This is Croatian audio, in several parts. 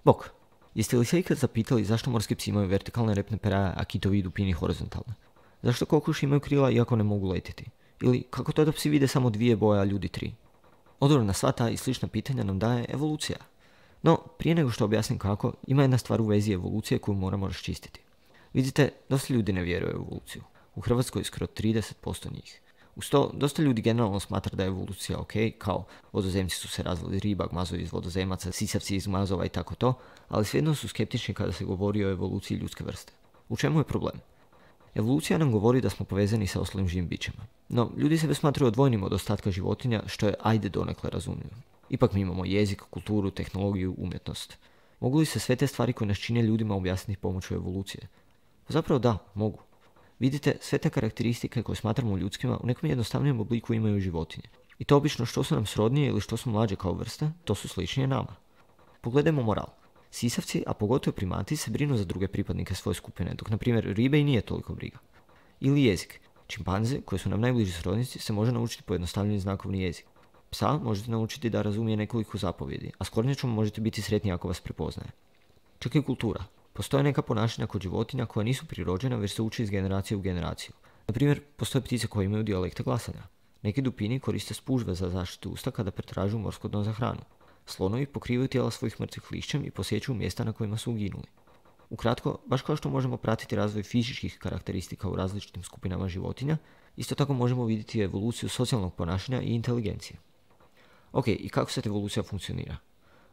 Bok, jeste li se ikad zapitali zašto morski psi imaju vertikalne repne peraje, a kitovi i dupini horizontalne? Zašto kokoši imaju krila iako ne mogu letjeti? Ili kako to da psi vide samo 2 boje, a ljudi 3? Odgovor na sva ta i slična pitanja nam daje evolucija. No, prije nego što objasnim kako, ima jedna stvar u vezi evolucije koju moramo raščistiti. Vidite, dosta ljudi ne vjeruje u evoluciju. U Hrvatskoj skoro 30% njih. Uz to, dosta ljudi generalno smatra da je evolucija ok, kao vodozemci su se razvili riba, gmazovi iz vodozemaca, sisavci iz gmazova i tako to, ali svejedno su skeptični kada se govori o evoluciji ljudske vrste. U čemu je problem? Evolucija nam govori da smo povezani sa ostalim živim bićima. No, ljudi sebe smatraju odvojenim od ostatka životinja, što je ajde donekle razumljivo. Ipak mi imamo jezik, kulturu, tehnologiju, umjetnost. Mogu li se sve te stvari koje nas čine ljudima objasniti pomoću evolucije? Zapravo da, mogu. Vidite, sve te karakteristike koje smatramo ljudskima u nekom jednostavnijem obliku imaju životinje. I to obično što su nam srodnije ili što su mlađe kao vrste, to su sličnije nama. Pogledajmo moral. Sisavci, a pogotovo primati, se brinu za druge pripadnike svoje skupine, dok na primjer ribe i nije toliko briga. Ili jezik. Čimpanze, koji su nam najbliži srodnici, se može naučiti pojednostavljeni znakovni jezik. Psa možete naučiti da razumije nekoliko zapovjedi, a s kornjačom možete biti sretni ako vas prepoznaje. Čak i kultura. Postoje neka ponašanja kod životinja koja nisu prirođena, već se uči iz generacije u generaciju. Na primjer, postoje ptice koje imaju dijalekte glasanja. Neki dupini koriste spužve za zaštitu usta kada pretražuju morsko dno za hranu. Slonovi pokrivaju tijela svojih mrtvih lišćem i posjećuju mjesta na kojima su uginuli. Ukratko, baš kao što možemo pratiti razvoj fizičkih karakteristika u različitim skupinama životinja, isto tako možemo vidjeti evoluciju socijalnog ponašanja i inteligencije. Ok, i kako sad evolucija funkcionira?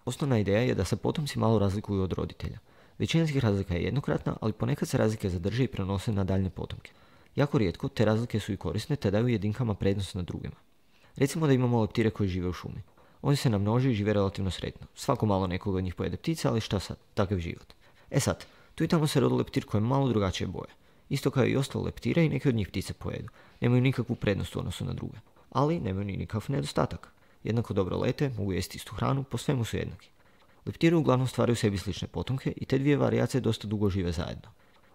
Osnovna ideja je da se potomci malo razlikuju od roditelja. Većina tih razlika je jednokratna, ali ponekad se razlike zadrže i prenose na daljne potomke. Jako rijetko te razlike su i korisne te daju jedinkama prednost nad drugima. Recimo da imamo leptire koji žive u šumi. Oni se namnože i žive relativno sretno. Svako malo nekoga od njih pojede ptica, ali šta sad, takav život. E sad, tu i tamo se rodi leptir koji je malo drugačije boje. Isto kao i ostale leptire i neke od njih ptice pojedu. Nemaju nikakvu prednost u odnosu na druge. Ali nemaju ni nikakav nedostatak. Jednako dobro lete, mogu jesti istu hranu, po svemu su jednaki. Leptiri uglavnom stvaraju sebi slične potomke i te dvije varijacije dosta dugo žive zajedno.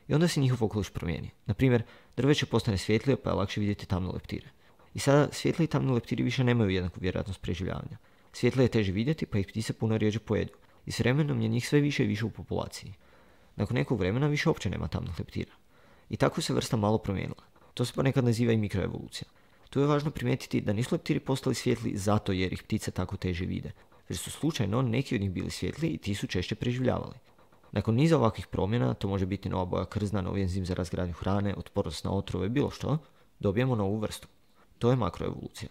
I onda se njihov okoliš promijeni. Na primjer, drveće postane svjetlije pa je lakše vidjeti tamne leptire. I sada svjetli i tamni leptiri više nemaju jednaku vjerojatnost preživljavanja. Svjetlije je teže vidjeti pa ih ptice puno rjeđe pojedu. I s vremenom je njih sve više i više u populaciji. Nakon nekog vremena više uopće nema tamnih leptira. I tako se vrsta malo promijenila. To se ponekad naziva i mikroevolucija. Tu je važno primijetiti da nisu leptiri postali svjetli zato jer ih ptice tako teže vide, već su slučajno neki od njih bili svjetli i ti su češće preživljavali. Nakon niza ovakvih promjena, to može biti nova boja krzna, novi enzim za razgradnju hrane, otpornost na otrove, bilo što, dobijemo novu vrstu. To je makroevolucija.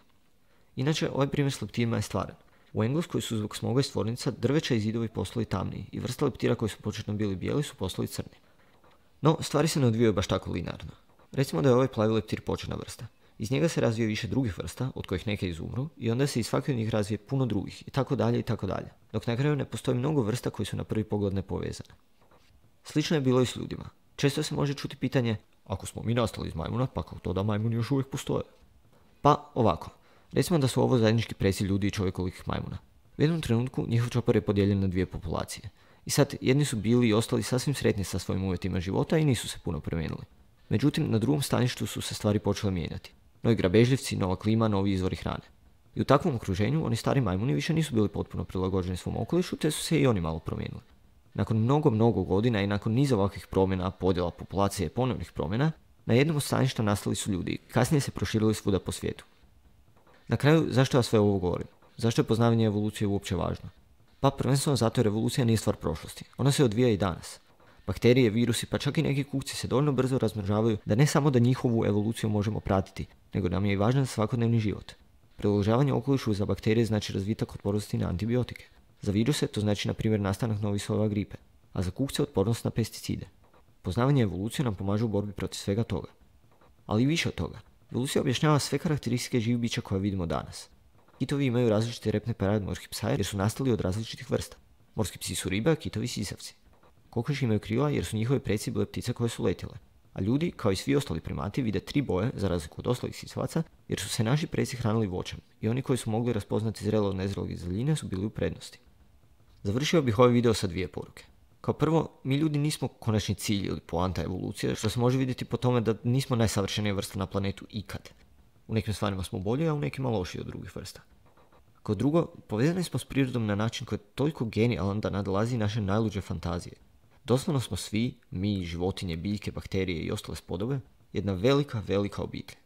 Inače, ovaj primjer s leptirima je stvaran. U Engleskoj su zbog smoga iz tvornica drveća i zidovi postali tamniji i vrsta leptira koji su početno bili bijeli su postali crni. No, stvari se ne odvijaju baš tako linearno. Recimo da je ovaj plavi leptir početna vrsta. Iz njega se razvije više drugih vrsta, od kojih neke izumru, i onda se iz svake od njih razvije puno drugih, i tako dalje, i tako dalje. Dok na kraju ne postoji mnogo vrsta koji su na prvi pogled nepovezane. Slično je bilo i s ljudima. Često se može čuti pitanje, ako smo mi nastali iz majmuna, pa kako to da majmuni još uvijek postoje? Pa ovako, recimo da su ovo zajednički preci ljudi i čovjekovih majmuna. U jednom trenutku njihov čopor je podijeljen na dvije populacije. I sad, jedni su bili i ostali sasvim sretni sa svojim uvjetima života i nisu se puno promijenili. Međutim, na drugom staništu su se stvari počele mijenjati. Novi grabežljivci, nova klima, novi izvori hrane. I u takvom okruženju oni stari majmuni više nisu bili potpuno prilagođeni svom okolišu, te su se i oni malo promijenili. Nakon mnogo godina i nakon niza ovakvih promjena, podjela populacije i ponovnih promjena, na jednom od staništa nastali su ljudi, kasnije se proširili svuda po svijetu. Na kraju, zašto ja sve ovo govorim? Zašto je poznavanje evolucije uopće važno? Pa prvenstveno zato jer evolucija nije stvar prošlosti. Ona se odvija i danas. Bakterije, virusi, pa čak i neki kukci se dovoljno brzo razmnožavaju da ne samo da njihovu evoluciju možemo pratiti, nego nam je i važan svakodnevni život. Prilagođavanje okolišu za bakterije znači razvitak otpornosti na antibiotike. Za viruse to znači na primjer nastanak novih sojeva gripe, a za kukce otpornost na pesticide. Poznavanje evolucije nam pomaže u borbi protiv svega toga. Ali i više od toga. Evolucija objašnjava sve karakteristike živih bića koje vidimo danas. Kitovi imaju različite repne peraje od morskih psa jer su nastali od različitih vrsta. Morski psi su ribe, a kitovi sisavci. Kokoši imaju krila jer su njihovi preci bile ptice koje su letjele. A ljudi, kao i svi ostali primati, vide 3 boje, za razliku od ostalih sisavaca, jer su se naši preci hranili voćem i oni koji su mogli raspoznati zrelo od nezrelog iz daljine su bili u prednosti. Završio bih ovaj video sa 2 poruke. Kao prvo, mi ljudi nismo konačni cilj ili poanta evolucije, što se može vidjeti po tome da nismo najsavršenija vrsta na planetu ikad. U nekim stvarima smo bolji, a u nekima lošiji od drugih vrsta. Kao drugo, povezani smo s prirodom na način koji je toliko genijalan da nadolazi naše najluđe fantazije. Doslovno smo svi, mi, životinje, biljke, bakterije i ostale spodobe, jedna velika, velika obitelj.